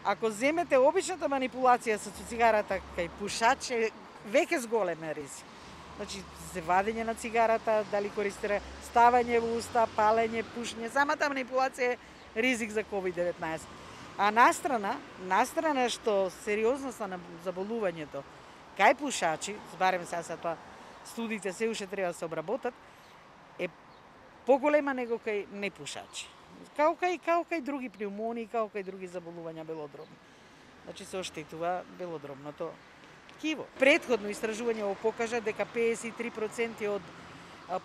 Ако земете обичната манипулација со цигарата кај пушач е веќе зголемен ризик. Значи, вадење на цигарата, дали користира ставање во уста, палење, пушење, самата манипулација е ризик за COVID-19. А настрана што сериозноста на заболувањето кај пушачи, барем сега тоа студиите се уште треба да се обработат, е поголема него кај непушачи. Као кај други пневмонии, као кај други заболувања белодробни. Значи се оштетува белодробното ткиво. Претходно истражување го покажа дека 53% од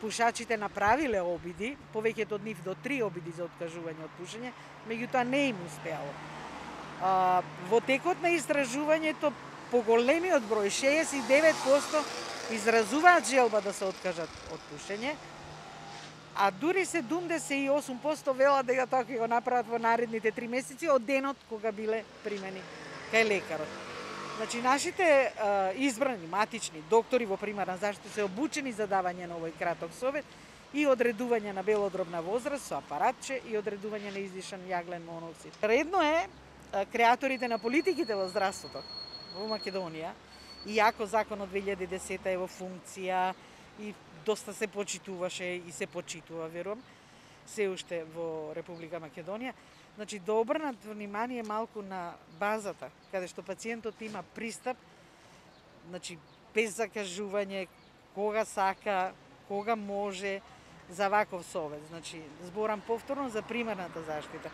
пушачите направиле обиди, повеќето од нив до 3 обиди за откажување од пушење, меѓутоа не им успеало. Во текот на истражувањето поголемиот број, 69%, изразуваат желба да се откажат од пушење, а дури 78% велат дека тоа ќе го направат во наредните 3 месеци од денот кога биле примени кај лекарот. Значи, нашите избрани матични доктори во примарна заштита се обучени за давање на овој краток совет и одредување на белодробна возраст со апаратче и одредување на издишан јаглен моноксид. Редно е креаторите на политиките во здравството во Македонија, иако законот 2010 е во функција и доста се почитуваше и се почитува, верувам, се уште во Република Македонија. Значи, да обрнат внимание малку на базата, каде што пациентот има пристап, значи, без закажување, кога сака, кога може, за ваков совет. Значи, зборам повторно за примарната заштита.